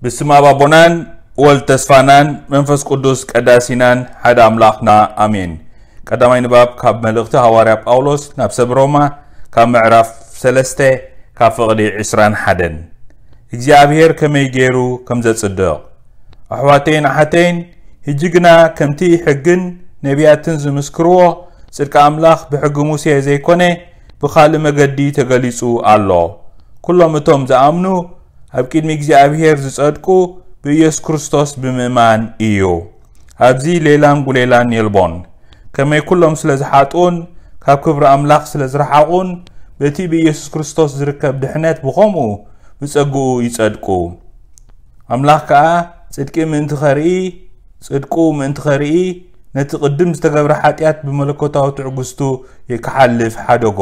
ብስም ኣብ ኣቦናን ወልድ ተስፋናን መንፈስ ቅዱስ ቀዳሲናን ሓደ ኣምላኽና ኣሜን። ቀዳማይ ንባብ ካብ መልእኽቲ ሃዋርያ ጳውሎስ ናብ ሰብ ሮማ፣ ካብ ምዕራፍ ሰለስተ፣ ካብ ፍቕዲ ዕስራን ሓደን። እግዚኣብሔር ከመይ ገይሩ ከም ዘጽድቕ። ኣሕዋተይን ኣሓተይን፣ ሕጂ ግና ከምቲ ሕግን ነቢያትን ዝምስክርዎ፣ ጽድቂ ኣምላኽ ብሕጊ ሙሴ ዘይኮነ ብኻልእ መገዲ ተገሊጹ ኣሎ። ኩሎም እቶም ዝኣምኑ ኣብ ቅድሚ እግዚኣብሔር ዝጸድቁ ብኢየሱስ ክርስቶስ ብምእማን እዩ። ኣብዚ ሌላን ጉሌላን የልቦን። ከመይ ኩሎም ስለ ዝሓጥኡን ካብ ክብሪ ኣምላኽ ስለ ዝረሓቑን፣ በቲ ብኢየሱስ ክርስቶስ ዝርከብ ድሕነት ብኸምኡ ብጸግኡ ይጸድቁ። ኣምላኽ ከኣ ጽድቂ ምእንቲ ኸርኢ፣ ጽድቁ ምእንቲ ኸርኢ፣ ነቲ ቅድም ዝተገብረ ሓጢኣት ብመለኮታዊ ትዕግስቱ ክሓልፍ ሓደጎ።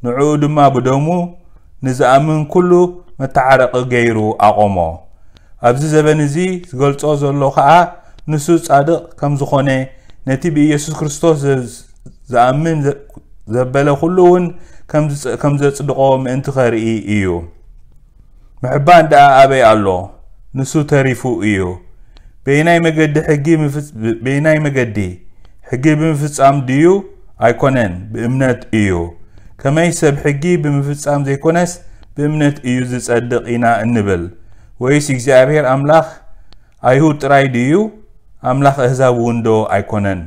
ንዕኡ ድማ ብደሙ ንዝኣምን ኩሉ መተዓረቒ ገይሩ ኣቖሞ። ኣብዚ ዘበን እዚ ዝገልጾ ዘሎ ኸኣ ንሱ ጻድቕ ከም ዝኾነ፣ ነቲ ብኢየሱስ ክርስቶስ ዘ-፣ ዝኣምን ዘ-፣ ዘበለ ኩሉ እውን ከም ዝጸ-፣ ከም ዘጽድቖ ምእንቲ ኸርኢ እዩ። ምሕባን ደኣ ኣበይ ኣሎ? ንሱ ተሪፉ እዩ። በየናይ መገዲ ሕጊ ምፍጽ-፣ በየናይ መገዲ ሕጊ ብምፍጻም ድዩ? ኣይኮነን፣ ብእምነት እዩ። ከመይ ሰብ ሕጊ ብምፍጻም ዘይኮነስ ብእምነት እዩ ዝጸድቕ ኢና እንብል? ወይስ እግዚኣብሔር ኣምላኽ ኣይሁድ ጥራይ ድዩ? ኣምላኽ ኣህዛብ እውን ዶ ኣይኮነን?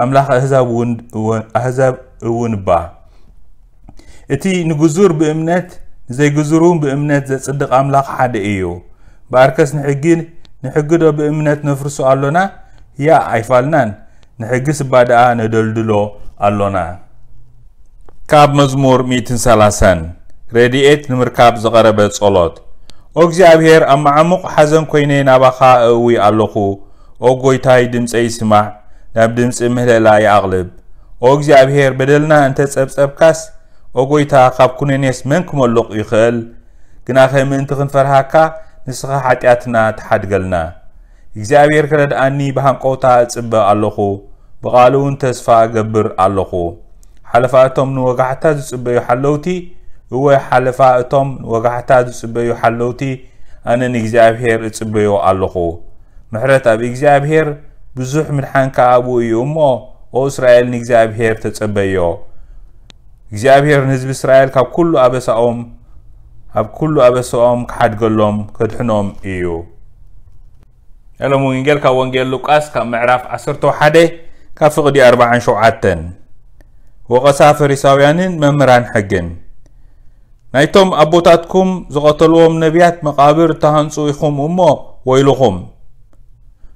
ኣምላኽ ኣህዛብ እውን፣ እውን፣ ኣህዛብ እውን እባ። እቲ ንግዙር ብእምነት፣ ንዘይግዙር እውን ብእምነት ዘጽድቕ ኣምላኽ ሓደ እዩ። እምበኣርከስ ንሕጊ፣ ንሕጊ ዶ ብእምነት ነፍርሶ ኣሎና? ያ ኣይፋልናን። ንሕጊስ እባ ደኣ ነደልድሎ ኣሎና። ካብ መዝሙር ሚእትን ሰላሳን። ረድኤት ንምርካብ ዝቐረበ ጸሎት። ኦ እግዚኣብሔር፣ ኣብ መዓሙቕ ሓዘን ኮይነ ናባኻ እእዊ ኣለኹ። ኦ ጎይታይ፣ ድምጸይ ስማዕ፣ ናብ ድምጺ ምህለላ ይኣቕልብ። ኦ እግዚኣብሔር፣ በደልና እንተ ጸብጸብካስ፣ ኦ ጎይታ፣ ካብ ኩነኔስ መን ክመሉቕ ይኽእል? ግናኸ ምእንቲ ክንፈርሃካ፣ ንስኻ ሓጢኣትና ትሓድገልና። እግዚኣብሔር ክረድኣኒ ብሃንቀውታ እጽበ ኣለኹ። ብቓሉ እውን ተስፋ እገብር ኣለኹ። ሓለፋ እቶም ንወጋሕታ ዝጽበዩ ሓለውቲ፣ እወ፣ ሓለፋ እቶም ንወጋሕታ ዝጽበዩ ሓለውቲ፣ ኣነ ንእግዚኣብሔር እጽበዮ ኣለኹ። ምሕረት ኣብ እግዚኣብሔር፣ ብዙሕ ምድሓን ከኣ ኣብኡ እዩ እሞ፣ ኦ እስራኤል፣ ንእግዚኣብሔር ተጸበዮ። እግዚኣብሔር ንህዝቢ እስራኤል ካብ ኩሉ ኣበሳኦም፣ ካብ ኩሉ ኣበሳኦም ክሓድገሎም፣ ከድሕኖም እዩ። ናይ ሎም ወንጌል ካብ ወንጌል ሉቃስ ካብ ምዕራፍ ዓሰርተ ሓደ ካብ ፍቕዲ ኣርባዓን ሸውዓተን። ወቐሳ ፈሪሳውያንን መምህራን ሕግን። ናይቶም ኣቦታትኩም ዝቐተልዎም ነቢያት መቓብር እተሃንጹ ኢኹም እሞ ወይልኹም።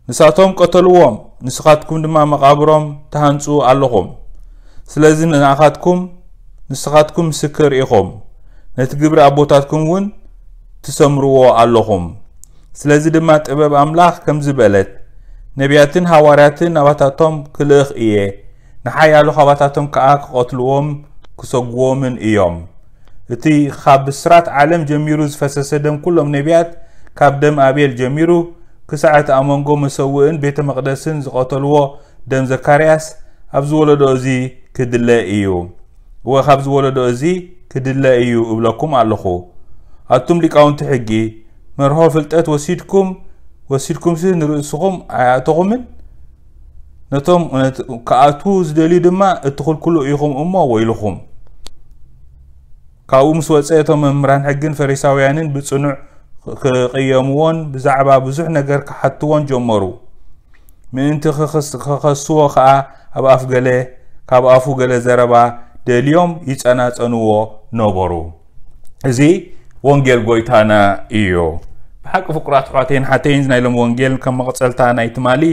ንሳቶም ቀተልዎም፣ ንስኻትኩም ድማ መቓብሮም ትሃንጹ ኣለኹም። ስለዚ ንኣኻትኩም፣ ንስኻትኩም ምስክር ኢኹም፣ ነቲ ግብሪ ኣቦታትኩም እውን ትሰምርዎ ኣለኹም። ስለዚ ድማ ጥበብ ኣምላኽ ከምዚ በለት፣ ነቢያትን ሃዋርያትን ናባታቶም ክልእኽ እየ፣ ንሓያሎ ካባታቶም ከኣ ክቐትልዎም ክሰጉዎምን እዮም። እቲ ካብ ብስራት ዓለም ጀሚሩ ዝፈሰሰ ደም ኩሎም ነቢያት፣ ካብ ደም ኣቤል ጀሚሩ ክሳዕ እቲ ኣብ መንጎ መሰውእን ቤተ መቕደስን ዝቐተልዎ ደም ዘካርያስ፣ ኣብዚ ወለዶ እዚ ክድለ እዩ። እወ፣ ካብዚ ወለዶ እዚ ክድለ እዩ እብለኩም ኣለኹ። ኣቱም ሊቃውንቲ ሕጊ፣ መርሆ ፍልጠት ወሲድኩም፣ ወሲድኩምሲ ንርእስኹም ኣይኣተኹምን? ነቶም፣ ነት-፣ ክኣትዉ ዝደልዩ ድማ እትኽልክሉ ኢኹም እሞ ወይልኹም። ካብኡ ምስ ወጸ፣ እቶም መምህራን ሕግን ፈሪሳውያንን ብጽኑዕ ክቕየምዎን ብዛዕባ ብዙሕ ነገር ክሓትዎን ጀመሩ። ምእንቲ ክኽስ-፣ ክኸስዎ ኸኣ ኣብ ኣፍ ገለ፣ ካብ ኣፉ ገለ ዘረባ ደልዮም ይጸናጸንዎ ነበሩ። እዚ ወንጌል ጎይታና እዩ። ብሓቂ ፍቁራት ኣሕዋተይን ሓተይን፣ ናይ ሎም ወንጌል ከም መቐጸልታ ናይ ትማሊ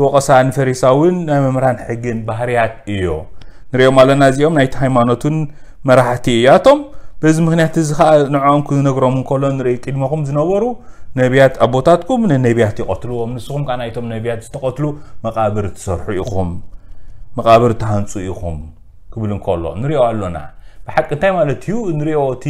ወቐሳ ንፈሪሳውን ናይ መምህራን ሕግን ባህርያት እዩ። ንሪኦም ኣለና፣ እዚኦም ናይቲ ሃይማኖትን መራሕቲ እያቶም። በዚ ምኽንያት እዚ ኸኣ ንዕኦም ክነግሮም እንከሎ ንርኢ፣ ቅድመኹም ዝነበሩ ነቢያት ኣቦታትኩም ንነቢያት ይቐትልዎም፣ ንስኹም ከኣ ናይቶም ነቢያት ዝተቐትሉ መቓብር ትሰርሑ ኢኹም፣ መቓብር ትሃንጹ ኢኹም ክብል እንከሎ ንሪኦ ኣሎና። ብሓቂ እንታይ ማለት እዩ? ንሪኦ፣ እቲ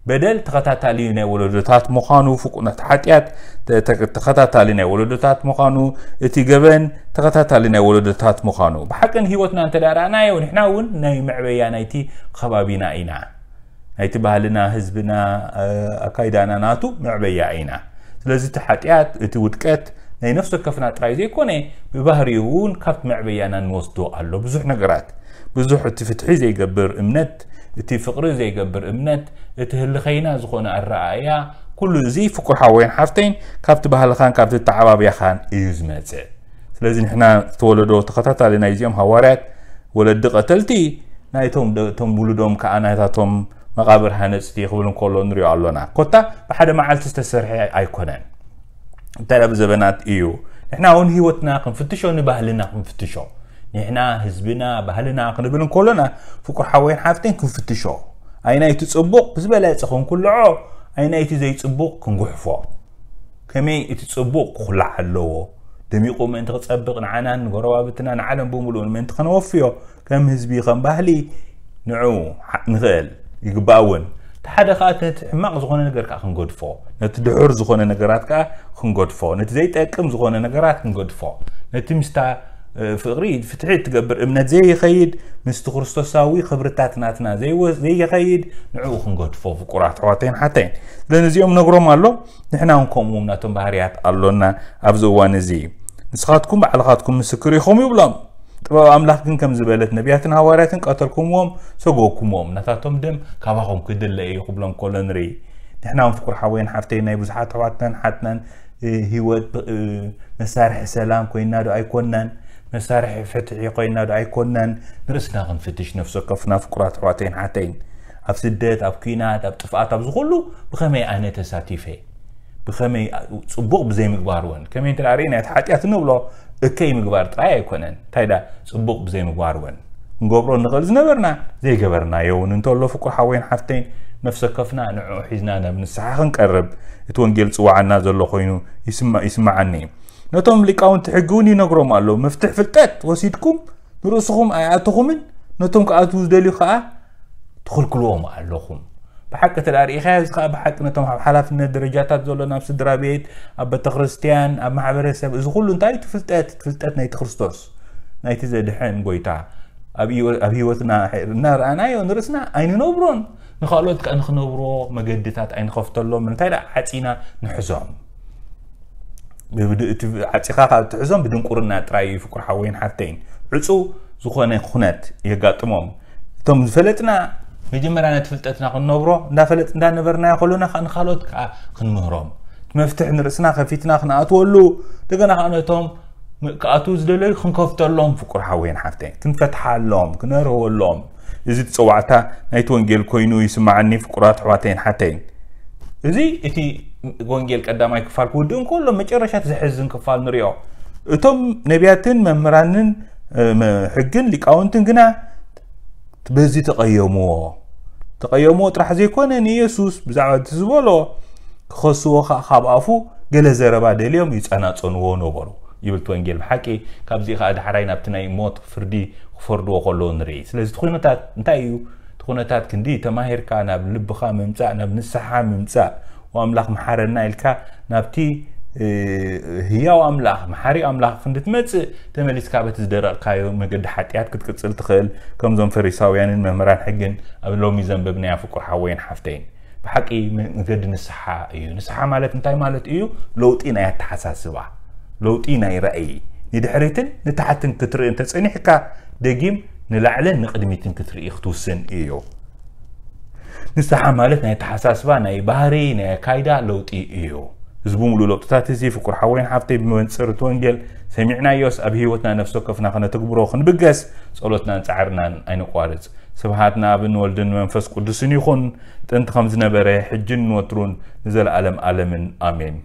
በደል ተኸታታሊ ናይ ወለዶታት ምዃኑ፣ ፍቁናት ሓጢኣት ተ-፣ ተ-፣ ተኸታታሊ ናይ ወለዶታት ምዃኑ፣ እቲ ገበን ተኸታታሊ ናይ ወለዶታት ምዃኑ። ብሓቂ ንህይወትና እንተ ደኣ ረኣናዮ፣ ንሕና እውን ናይ መዕበያ ናይቲ ከባቢና ኢና። ናይቲ ባህልና፣ ህዝብና፣ እ፣ ኣካይዳና ናቱ መዕበያ ኢና። ስለዚ እቲ ሓጢኣት፣ እቲ ውድቀት ናይ ነፍሲ ወከፍና ጥራይ ዘይኮነ፣ ብባህሪኡ እውን ካብቲ መዕበያና ንወስዶ ኣሎ። ብዙሕ ነገራት፣ ብዙሕ እቲ ፍትሒ ዘይገብር እምነት፣ እቲ ፍቕሪ ዘይገብር እምነት፣ እቲ ህልኸይና ዝኾነ ኣረኣእያ፣ ኩሉ እዚ ፍቁር ሓወይን ሓፍተይን ካብቲ ባህልኻን ካብቲ ኣተዓባብያኻን እዩ ዝመጽእ። ስለዚ ንሕና ዝተወለዶ ተኸታታሊ ናይዚኦም ሃዋርያት ወለዲ ቀተልቲ ናይቶም ደ-፣ እቶም ውሉዶም ከኣ ናይታቶም መቓብር ሃነጽቲ ክብል እንከሎ ንሪኦ ኣሎና። ኮታ ብሓደ መዓልቲ ዝተሰርሐ ኣይኮነን። እንታይ ደኣ ብዘበናት እዩ። ንሕና እውን ህይወትና ክንፍትሾ፣ ንባህልና ክንፍትሾ። ንሕና ህዝብና፣ ባህልና ክንብል እንከሎና ፍቁር ሓወይን ሓፍተይን ክንፍትሾ። ኣይናይቲ ጽቡቕ ብዝበለጸ ክንኩልዖ፣ ኣይናይቲ ዘይጽቡቕ ክንጉሕፎ። ከመይ እቲ ጽቡቕ ክኹላዕ ኣለዎ? ደሚቑ ምእንቲ ክጸብቕ ንዓናን ንጎረባብትና ንዓለም ብምሉኡን ምእንቲ ከነወፍዮ ከም ህዝቢ ከም ባህሊ ንዑ ሓ-፣ ንኽእል ይግባእ እውን። እቲ ሓደ ከኣ ነቲ ሕማቕ ዝኾነ ነገር ከኣ ክንገድፎ፣ ነቲ ድሑር ዝኾነ ነገራት ከኣ ክንገድፎ፣ ነቲ ዘይጠቅም ዝኾነ ነገራት ክንገድፎ፣ ነቲ ምስታ፣ እ፣ ፍቕሪ ፍትሒ እትገብር እምነት ዘይኸይድ፣ ምስቲ ክርስቶሳዊ ክብርታት ናትና ዘይወ-፣ ዘይኸይድ ንዕኡ ክንገድፎ ፍቁራት ኣሕዋተይን ሓተይን። ስለዚ እዚኦም ነግሮም ኣሎ። ንሕና እውን ከምኡም ናቶም ባህርያት ኣሎና ኣብዚ እዋን እዚ። ንስኻትኩም ባዕልኻትኩም ምስክር ኢኹም ይብሎም። ጥበብ ኣምላኽ ግን ከም ዝበለት ነቢያትን ሃዋርያትን ቀተልኩምዎም፣ ሰጎግኩምዎም። ናታቶም ደም ካባኹም ክድለ እዩ ክብሎም ከሎ ንርኢ። ንሕና እውን ፍቁር ሓወይን ሓፍተይ ናይ ብዙሓት ኣሕዋትናን ሓትናን፣ እ፣ ህይወት ብ-፣ እ፣ መሳርሒ ሰላም ኮይና ዶ ኣይኮናን? መሳርሒ ፍትሒ ኮይና ዶ ኣይኮናን? ንርእስና ክንፍትሽ ነፍሲ ወከፍና ፍቁራት ኣሕዋተይን ሓተይን። ኣብ ስደት፣ ኣብ ኲናት፣ ኣብ ጥፍኣት፣ ኣብዚ ኩሉ ብኸመይ ኣነ ተሳቲፈ? ብኸመይ ጽቡቕ ብዘይምግባር እውን፣ ከመይ እንተ ደኣ ርኢና እቲ ሓጢኣት እንብሎ እከይ ምግባር ጥራይ ኣይኮነን። እንታይ ደኣ ጽቡቕ ብዘይምግባር እውን ክንገብሮ ንኽእል ዝነበርና ዘይገበርናዮ እውን እንተሎ ፍቁር ሓወይን ሓፍተይን ነፍሲ ወከፍና ንዕኡ ሒዝና ናብ ንስሓ ክንቀርብ እቲ ወንጌል ዝጽውዓና ዘሎ ኮይኑ ይስማ-፣ ይስምዓኒ። ነቶም ሊቃውንቲ ሕጊ እውን ይነግሮም ኣሎ። መፍትሕ ፍልጠት ወሲድኩም ንርእስኹም ኣይኣተኹምን፣ ነቶም ክኣትዉ ዝደልዩ ከኣ ትኽልክልዎም ኣለኹም። ብሓቂ እንተ ደኣ ርኢኻዮ፣ እዚ ከኣ ብሓቂ ነቶም ኣብ ሓላፍነት ደረጃታት ዘሎ፣ ናብ ስድራ ቤት፣ ኣብ ቤተ ክርስትያን፣ ኣብ ማሕበረሰብ፣ እዚ ኩሉ እንታይ እዩ? እቲ ፍልጠት፣ ፍልጠት ናይቲ ክርስቶስ፣ ናይቲ ዘድሕን ጎይታ ኣብ ህይወ-፣ ኣብ ህይወትና እናረኣናዮ ንርእስና ኣይንነብሮን፣ ንኻልኦት ከኣ ንኽነብሮ መገድታት ኣይንኸፍተሎም። እንታይ ደኣ ዓጺና ንሕዞም። ብድ-፣ እቲ ዓጺኻ ካብ ትሕዞም ብድንቁርና ጥራይ እዩ ፍቁር ሓወይን ሓፍተይን። ዕጹው ዝኾነ ኩነት የጋጥሞም። እቶም ዝፈለጥና መጀመርያ ነቲ ፍልጠትና ክንነብሮ፣ እንዳፈለጥ-፣ እንዳነበርናዮ ከሎና ከኣ ንኻልኦት ከኣ ክንምህሮም። እቲ መፍትሕ ንርእስና ከፊትና ክንኣትወሉ፣ እንደገና ከኣ ነቶም ም-፣ ክኣትዉ ዝደለዩ ክንከፍተሎም ፍቁር ሓወይን ሓፍተይን፣ ክንፈትሓሎም፣ ክነርህወሎም። እዚ እቲ ጸዋዕታ ናይቲ ወንጌል ኮይኑ ይስምዓኒ ፍቁራት ኣሕዋተይን ሓተይን። እዚ እቲ ወንጌል ቀዳማይ ክፋል ክውድእ እንከሎ መጨረሻ እቲ ዘሕዝን ክፋል ንሪኦ። እቶም ነቢያትን መምህራንን፣ እ፣ መ-፣ ሕግን ሊቃውንትን ግና በዚ ተቐየምዎ። ተቐየምዎ ጥራሕ ዘይኮነ ንየሱስ ብዛዕባ እቲ ዝበሎ ክኸስዎ ከኣ ካብ ኣፉ ገለ ዘረባ ደልዮም ይጸናጸንዎ ነበሩ ይብል እቲ ወንጌል። ብሓቂ ካብዚ ከኣ ዳሕራይ ናብቲ ናይ ሞት ፍርዲ ክፈርድዎ ከለዉ ንርኢ። ስለዚ እቲ ኩነታት እንታይ እዩ? እቲ ኩነታት ክንዲ ተማሂርካ ናብ ልብኻ ምምጻእ፣ ናብ ንስሓ ምምጻእ፣ "ወኣምላኽ መሓረና" ኢልካ ናብቲ፣ እ፣ ህያው ኣምላኽ፣ መሓሪ ኣምላኽ ክንዲ ትመጽእ፣ ተመሊስካ በቲ ዝደረቕካዮ መገዲ ሓጢኣት ክትቅጽል ትኽእል። ከምዞም ፈሪሳውያንን መምህራን ሕግን ኣብ ሎሚ ዘንበብናያ ፍቁር ሓወይን ሓፍተይን። ብሓቂ መ-፣ መገዲ ንስሓ እዩ። ንስሓ ማለት እንታይ ማለት እዩ? ለውጢ ናይ ኣተሓሳስባ፣ ለውጢ ናይ ራእይ፣ ንድሕሪትን ንታሕትን ክትርኢ እንተጸኒሕካ፣ ደጊም ንላዕልን ንቕድሚትን ክትርኢ ክትውስን እዩ። ንስሓ ማለት ናይ ኣተሓሳስባ፣ ናይ ባህሪ፣ ናይ ኣካይዳ ለውጢ እዩ። እዚ ብምሉእ ለውጥታት እዚ ፍቁር ሓወይን ሓፍተይ ብመንጽር እቲ ወንጌል ሰሚዕናዮስ ኣብ ህይወትና ነፍሲ ወከፍና ከነተግብሮ ክንብገስ ጸሎትናን ጻዕርናን ኣይነቋርጽ። ስብሃት ንኣብን ወልድን መንፈስ ቅዱስን ይኹን፣ ጥንቲ ከም ዝነበረ፣ ሕጅን ንወትሩን ንዘለኣለም ኣለምን። ኣሜን።